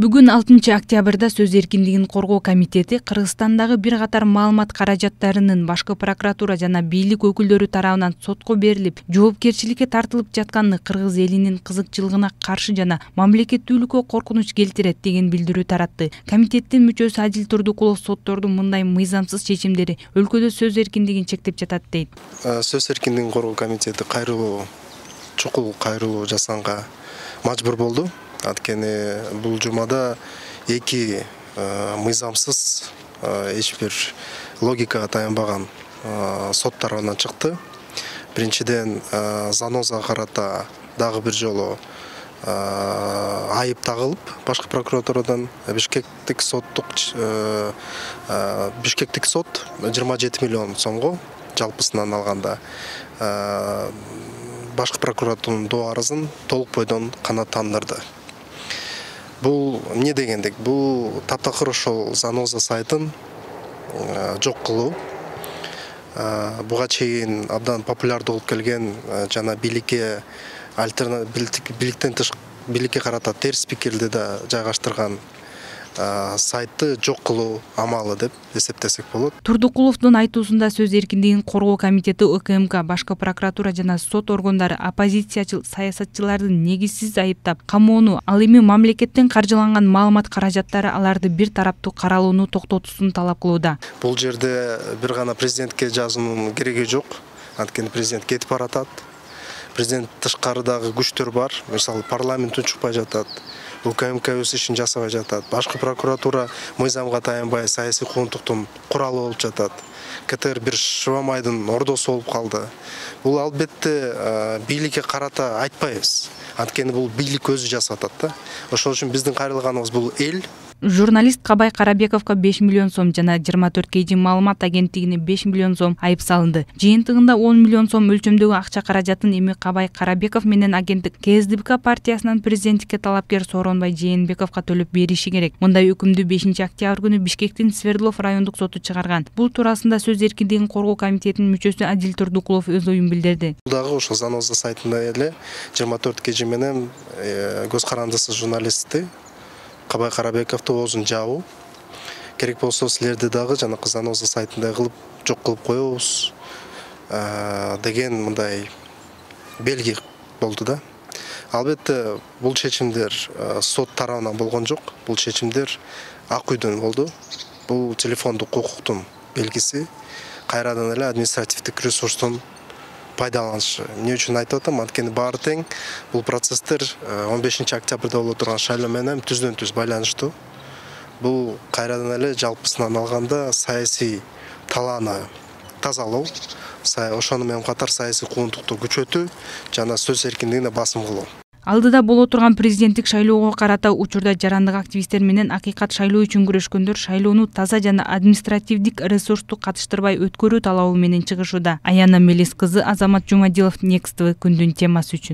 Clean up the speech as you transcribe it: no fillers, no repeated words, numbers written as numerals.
Бүгүн 6-октябрда Сөз эркиндигин коргоо комитети Кыргызстандагы бир катар маалымат каражаттарынын башкы прокуратура жана бийлик өкүлдөрү тарабынан сотко берилип, жоопкерчиликке тартылып жатканы кыргыз элинин кызыкчылыгына каршы жана мамлекеттүүлүккө коркунуч келтирет деген билдирүү таратты. Комитеттин мүчөсү Адил Турдукулов соттордун мындай мыйзамсыз чечимдери өлкөдө сөз эркиндигин чектеп жатат дейт. Сөз эркиндигин коргоо комитети чукул кайрылуу жасаганга мажбур болду. Анткени бул жумада эки мыйзамсыз эч бир логикага таянбаган сот тарабынан чыкты. Биринчиден Занозага карата дагы бир жолу айып тагылып, башкы прокуратурадан Бишкектик сот 27 миллион сомго жалпысынан алганда башкы прокуратуранын доо арызын толук бойдон канааттандырды. Бул эмне дегендик? Бул таптакыр ошол Заноза сайтын жок кылуу. Буга чейин абдан популярдуу болуп келген жана бийликке карата терс пикирди да жайгаштырган сайтты жок кылуу амалы деп эсептесек болот. Турдукуловдун айтуусунда Сөз эркиндигин коргоо комитети УКМК, башкы прокуратура жана сот органдары оппозициячыл саясатчыларды негизсиз айыптап, камоону, ал эми мамлекеттен каржыланган маалымат каражаттары аларды бир тараптуу каралууну токтотуусун талап кылууда. Бул жерде бир гана президентке жазуунун кереги жок. Анткени президент кетип баратат. Президент тышкарыдагы күчтөр бар. Мисалы парламент унчукпай жатат. УКМК өз ишин жасабай жатат. Башкы прокуратура мыйзамга таянбай саясий куугунтуктун куралы болуп жатат. КТР бир Шыбамайдын ордосу болуп калды. Бул албетте бийликке карата айтпайбыз. Анткени бул бийлик өзү жасап атат да. Ошол үчүн биздин кайрылганыбыз бул эл. Журналист Кабай Карабековго 5 миллион сом жана 24 KG маалымат агенттигине 5 миллион сом айып салынды. Жыйынтыгында 10 миллион сом өлчөмдөгү акча каражатын эми Кабай Карабеков менен агенттик КСДП партиясынан президенттикке талапкер Сооронбай Жээнбековго төлөп бериши керек. Мындай өкүмдү 5-октябрь күнү Бишкектин Свердлов райондук соту чыгарган. Бул туурасында Сөз эркиндигин коргоо комитетинин мүчөсү Адил Турдукулов өз оюн билдирди. Дагы ошол Заноза сайтында эле 24 KG менен көз карандысыз журналистти Кабай Карабековду оозун жабуу керек болсо силерди дагы жана Заноза сайтындай кылып жок кылып коебуз деген мындай белги болду да. Албетте бул чечимдер сот тарабынан болгон жок. Бул чечимдер Ак үйдөн болду. Бул телефондук укуктун белгиси. Кайрадан эле административдик ресурстун пайдаланышы. Эмне үчүн айтып атам? Анткени баары тең бул процесстер 15-октябрда боло турган шайлоо менен түздөн-түз байланыштуу. Бул кайрадан эле жалпысынан алганда саясий талааны тазалоо, ошону менен катар саясий куугунтукту күчөтүү жана сөз эркиндигине басым кылуу. Алдыда боло турган президенттик шайлоого карата учурда жарандык активисттер менен акыйкат шайлоо үчүн күрөшкөндөр шайлоону таза жана административдик ресурсту катыштырбай өткөрүү талабы менен чыгышууда. Аяна Мелис кызы, Азамат Жумадилов, Next TV күндүн темасы үчүн.